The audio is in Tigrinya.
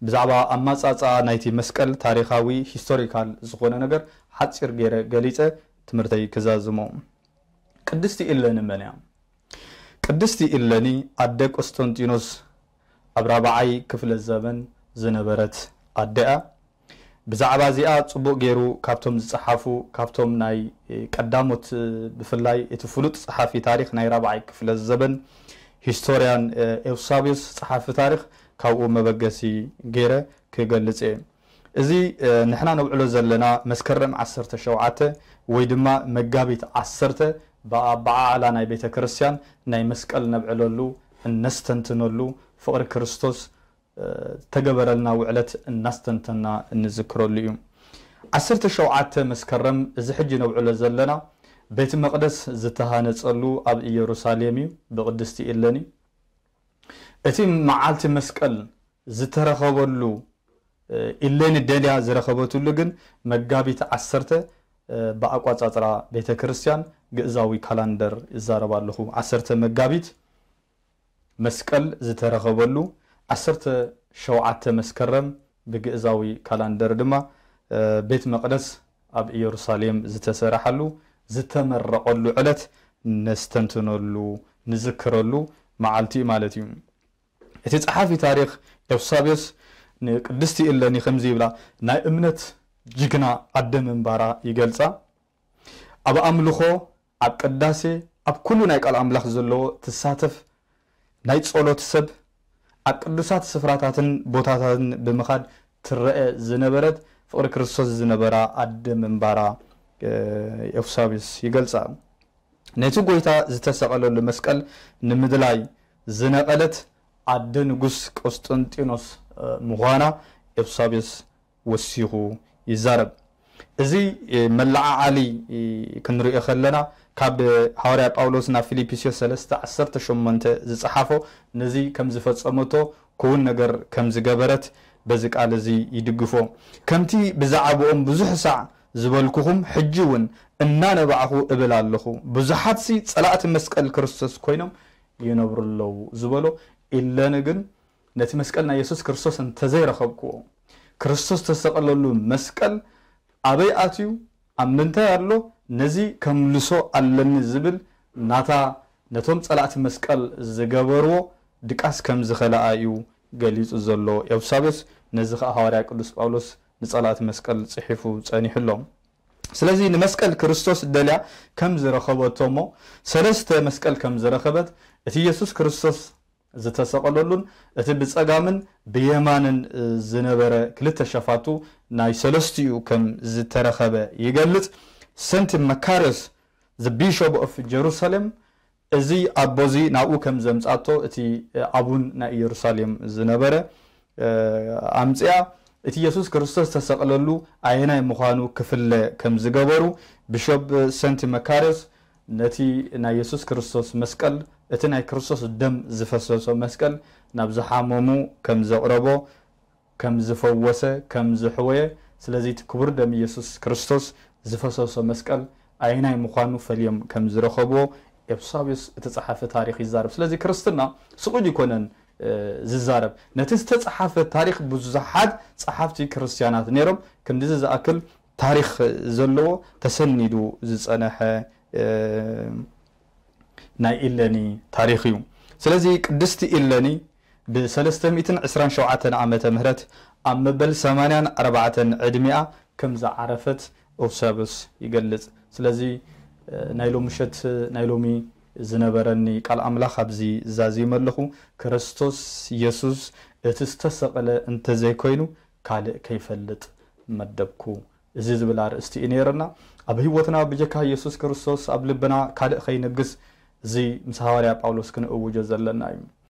ብዛዕባ ኣማጻጻ ናይቲ መስቀል ታሪኻዊ፣ ሂስቶሪካል፣ ዝኾነ ነገር ሓጺር ገይረ ገሊጸ ትምህርተይ ክዛዝሞ። ቅድስቲ ኢለኒ መን እያ? ቅድስቲ ኢለኒ ኣደ ቆስጠንጢኖስ ኣብ ራብዓይ ክፍለ ዘመን ዝነበረት ኣደ እያ። ብዛዕባ እዚኣ ጽቡቕ ገይሩ ካብቶም ዝጸሓፉ፣ ካብቶም ናይ ቀዳሞት፣ ብፍላይ እቲ ፍሉጥ ጸሓፊ ታሪኽ ናይ ራብዓይ ክፍለ ዘመን ሂስቶርያን ኤውሳብዮስ ጸሓፊ ታሪኽ ካብኡ መበገሲ ገይረ ክገልጽ እየ። እዚ ንሕና ነብዕሎ ዘለና መስከረም ዓሰርተ ሸውዓተ ወይ ድማ መጋቢት ዓሰርተ ብኣበዓዕላ ናይ ቤተ ክርስቲያን ናይ መስቀል ነብዕለሉ፣ እነስተንትነሉ፣ ፍቕሪ ክርስቶስ ተገበረልና ውዕለት እናስተንተና እንዝክረሉ እዩ። ዓሰርተ ሸውዓተ መስከረም እዚ ሕጂ ነብዕሎ ዘለና ቤት መቕደስ ዝተሃነጸሉ ኣብ ኢየሩሳሌም እዩ፣ ብቅድስቲ ኢለኒ። እቲ መዓልቲ መስቀል ዝተረኸበሉ፣ ኢለኒ ደልያ ዝረኸበትሉ ግን መጋቢት ዓሰርተ ብኣቋጻጽራ ቤተ ክርስቲያን ግእዛዊ ካላንደር ይዛረብ ኣለኹ። ዓሰርተ መጋቢት መስቀል ዝተረኸበሉ፣ ዓሰርተ ሸውዓተ መስከረም ብግእዛዊ ካላንደር ድማ ቤት መቕደስ ኣብ ኢየሩሳሌም ዝተሰረሓሉ፣ ዝተመረቐሉ ዕለት ነስተንትነሉ፣ ንዝክረሉ መዓልቲ እዩ ማለት እዩ። እቲ ጸሓፊ ታሪኽ ኤውሳብዮስ ንቅድስቲ ኢለኒ ከምዚ ይብላ፣ ናይ እምነት ጅግና ኣደ ምንባራ ይገልጻ። ኣብ ኣምልኾ፣ ኣብ ቅዳሴ፣ ኣብ ኩሉ ናይ ቃል ኣምላኽ ዘለዎ ትሳተፍ፣ ናይ ጸሎት ሰብ፣ ኣብ ቅዱሳት ስፍራታትን ቦታታትን ብምኻድ ትረአ ዝነበረት፣ ፍቕሪ ክርስቶስ ዝነበራ ኣደ ምንባራ ኤውሳብዮስ ይገልጻ። ነቲ ጎይታ ዝተሰቐለሉ መስቀል ንምድላይ ዝነቐለት ኣደ ንጉስ ቆስጠንጢኖስ ምዃና ኤውሳብዮስ ወሲኹ ይዛረብ። እዚ መለዓዓሊ ክንሪኦ ከለና፣ ካብ ሃዋርያ ጳውሎስ ናብ ፊልጵስዮስ ሰለስተ ዓሰርተ ሸሞንተ ዝጸሓፎ፣ ነዚ ከም ዝፈጸመቶ፣ ክውን ነገር ከም ዝገበረት በዚ ቃል እዚ ይድግፎ። ከምቲ ብዛዕባኦም ብዙሕ ሳዕ ዝበልኩኹም፣ ሕጂ እውን እናነባዕኹ እብል ኣለኹ፣ ብዙሓትሲ ጸላእቲ መስቀል ክርስቶስ ኮይኖም ይነብሩ ኣለዉ ዝበሎ ኢለኒ ግን ነቲ መስቀል ናይ የሱስ ክርስቶስ እንተዘይረኸብክዎ፣ ክርስቶስ ተሰቐለሉ መስቀል ኣበይ ኣትዩ፣ ኣብ ምንታይ ኣሎ፣ ነዚ ከምልሶ ኣለኒ ዝብል ናታ ነቶም ጸላእቲ መስቀል ዝገበርዎ ድቃስ ከም ዝኸለኣ እዩ ገሊጹ ዘሎ ኤውሳብዮስ። ነዚ ኸኣ ሃዋርያ ቅዱስ ጳውሎስ ንጸላእቲ መስቀል ጽሒፉ ጸኒሑ ኣሎ። ስለዚ ንመስቀል ክርስቶስ ደልያ ከም ዝረኸበቶ እሞ ሰለስተ መስቀል ከም ዝረኸበት፣ እቲ የሱስ ክርስቶስ ዝተሰቐለሉን እቲ ብጸጋምን ብየማንን ዝነበረ ክልተ ሸፋቱ ናይ ሰለስቲኡ ከም ዝተረኸበ ይገልጽ። ሰንት መካርዮስ፣ the Bishop of Jerusalem፣ እዚ ኣቦዚ ናብኡ ከም ዘምጻቶ እቲ ኣቡን ናይ ኢየሩሳሌም ዝነበረ ኣምጽኣ፣ እቲ የሱስ ክርስቶስ ዝተሰቕለሉ ኣየናይ ምዃኑ ክፍለ ከም ዝገበሩ፣ ቢሾፕ ሰንት መካርዮስ ነቲ ናይ የሱስ ክርስቶስ መስቀል፣ እቲ ናይ ክርስቶስ ደም ዝፈሰሶ መስቀል ናብ ዝሓመሙ ከም ዘቕረቦ፣ ከም ዝፈወሰ፣ ከም ዝሕወየ፣ ስለዚ እቲ ክቡር ደም ኢየሱስ ክርስቶስ ዝፈሰሶ መስቀል ኣየናይ ምዃኑ ፈልዮም ከም ዝረኸብዎ ኤውሳብዮስ እቲ ጸሓፊ ታሪኽ ይዛረብ። ስለዚ ክርስትና ስቕ ኢሉ ኣይኮነን ዝዛረብ። ነቲ ዝተጻሓፈ ታሪኽ ብዙሓት ጸሓፍቲ ክርስትያናት ነይሮም። ክንድዚ ዝኣክል ታሪኽ ዘለዎ ተሰኒዱ ዝጸነሐ ናይ ኢለኒ ታሪኽ እዩ። ስለዚ ቅድስቲ ኢለኒ ብ ሰለስተ ሚእትን ዕስራን ሸውዓተን ዓመተ ምህረት ኣብ መበል ሰማንያን ኣርባዕተን ዕድሚኣ ከም ዝዓረፈት ኦብሳብዮስ ይገልጽ። ስለዚ ናይ ሎሚ ምሸት፣ ናይ ሎሚ ዝነበረኒ ቃል ኣምላኽ ኣብዚ ዛዚመ ኣለኹ። ክርስቶስ የሱስ እቲ ዝተሰቕለ እንተዘይኮይኑ ካልእ ከይፈልጥ መደብኩ። እዚ ዝብል ኣርእስቲ እዩ ነይርና። ኣብ ህይወትና ብጀካ የሱስ ክርስቶስ ኣብ ልብና ካልእ ከይነግስ እዚ ምስ ሃዋርያ ጳውሎስ ክንእውጆ ዘለና እዩ።